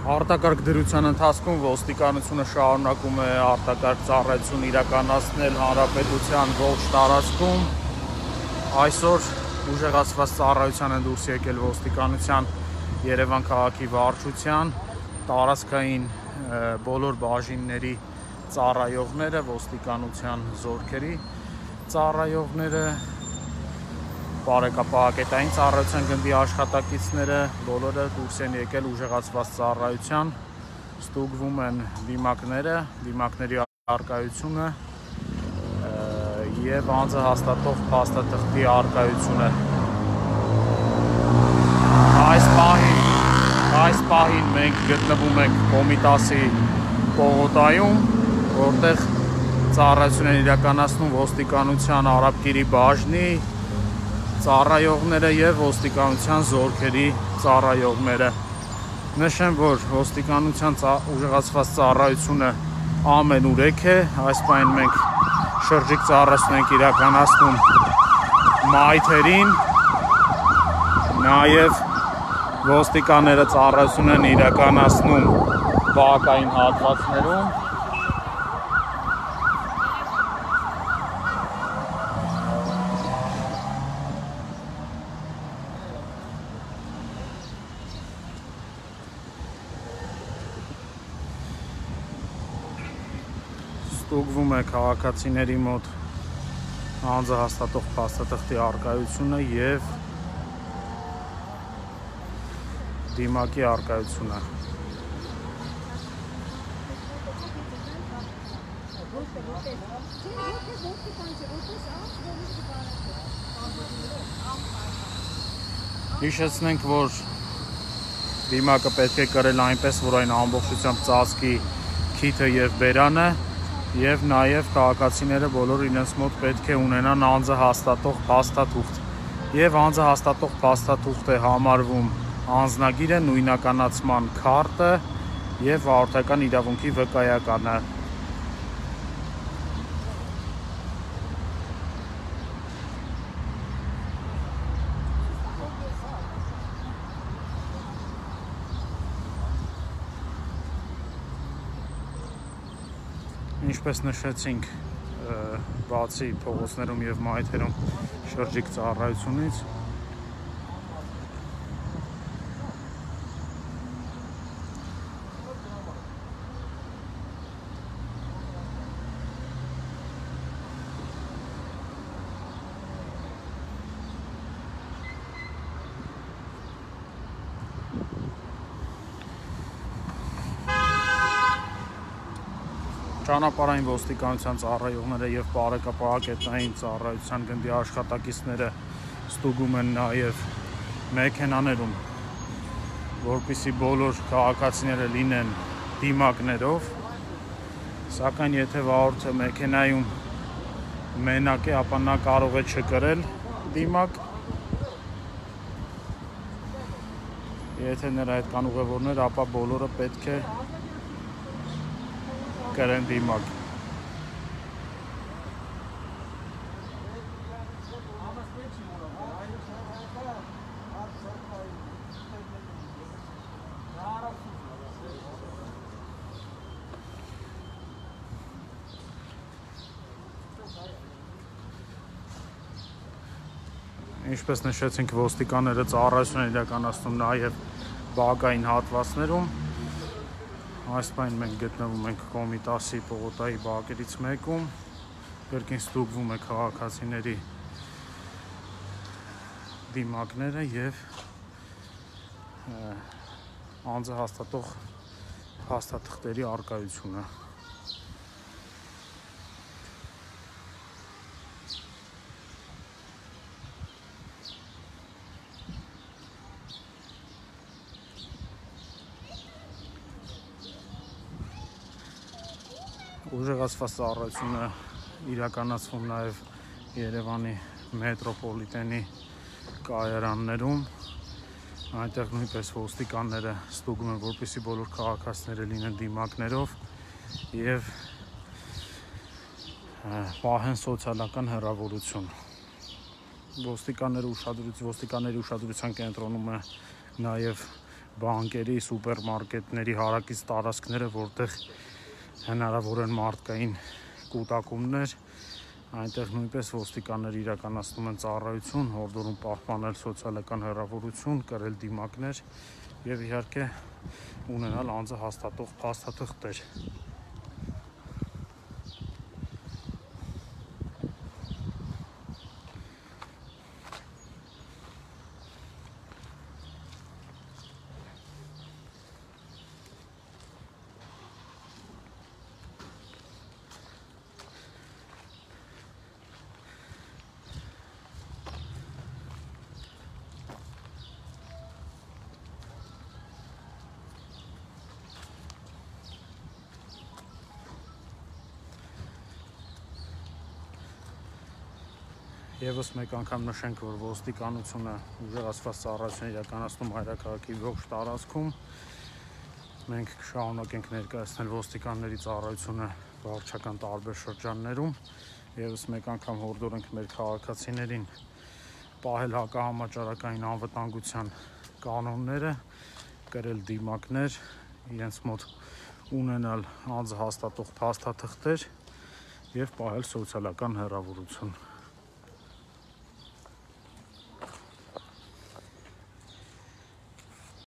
Արտակարգ դրության ընթացքում ոստիկանությունը շարունակում է արտակարգ ծառայություն իրականացնել հանրապետության ողջ տարածքում։ Այսօր ուժեղացված ծառայության են դուրս եկել ոստիկանության Երևան քաղաքի վարչության տարածքային բոլոր բաժինների ծառայողները, ոստիկանության զորքերի ծառայողները, բարեկապահակետային ծառայության գնդի աշխատակիցները բոլորը դուրս են եկել ուժեղացված ծառայության, ստուգվում են դիմակների առկայությունը և անձը հաստատող փաստաթղթի առկայությունը։ Այս պահին մենք գտնվում ենք Կոմիտասի պողոտայում, որտեղ ծառայություն են իրականացնում ոստիկանության Արաբկիրի բաժնի ծառայողները և ոստիկանության զորքերի ծառայողները։ Նշեմ, որ ոստիկանության ուժեղացված ծառայությունը ամենուրեք է, այս պահին մենք շրջիկ ծառայություն ենք իրականացնում մայթերին, նաև ոստիկանները ծառայություն են իրականացնում բակային հատվածներում։ Ստուգվում է քաղաքացիների մոտ անձը հաստատող փաստաթղթի առկայությունը և դիմակի առկայությունը։ Հիշեցնենք, որ դիմակը պետք է կրել այնպես, որ այն ամբողջությամբ ծածկի քիթը և բերանը, և նաև քաղաքացիները բոլոր իրենց մոտ պետք է ունենան անձը հաստատող փաստաթուղթ, և անձը հաստատող փաստաթուղթ է համարվում անձնագիրը, նույնականացման քարտը և վարորդական իրավունքի վկայականը։ Ինչպես նշեցինք, բացի փողոցներում և մայթերում շրջիկ ծառայությունից, ճանապարհային ոստիկանության ծառայողները և բարեկապահակետային ծառայության գնդի աշխատակիցները ստուգում են նաև մեքենաներում, որպեսզի բոլոր քաղաքացիները լինեն դիմակներով, սակայն եթե վարորդը մեքենայում մենակ է, ապա նա կարող է չկրել դիմակ, եթե նրա հետ կան ուղևորներ, ապա բոլորը պետք է կրեն դիմակ։ Ինչպես նշեցինք, ոստիկանները ծառայություն են իրականացնում նաև բակային հատվածներում։ Այս պահին մենք գտնվում ենք Կոմիտասի պողոտայի բակերից մեկում, կրկին ստուգվում է քաղաքացիների դիմակները և անձը հաստատող փաստաթղթերի առկայությունը։ Ուժեղացված ծառայությունը իրականացվում նաև Երևանի մետրոպոլիտենի կայարաններում, այնտեղ նույնպես ոստիկանները ստուգում են, որպեսզի բոլոր քաղաքացիները լինեն դիմակներով և պահեն սոցիալական հեռավորություն։ Ոստիկանների ուշադրության կենտրոնում է նաև բանկերի, սուպերմարկետների հարակից տարածքները, որտեղ հնարավոր են մարդկային կուտակումներ, այնտեղ նույնպես ոստիկանները իրականացնում են ծառայություն, հորդորում պահպանել սոցիալական հեռավորություն, կրել դիմակներ եւ իհարկե ունենալ անձը հաստատող փաստաթղթեր։ Եվս մեկ անգամ նշենք, որ ոստիկանությունը ուժեղացված ծառայություն իրականացնում հայրաքաղաքի ողջ տարածքում։ Մենք կշարունակենք ներկայացնել ոստիկանների ծառայությունը վարչական տարբեր շրջաններում։ Եվս մեկ անգամ հորդորենք մեր քաղաքացիներին պահել հակահամաճարակային անվտանգության կանոնները, կրել դիմակներ, իրենց մոտ ունենալ անձը հաստատող փաստաթղթեր եւ պահել սոցիալական հեռավորություն։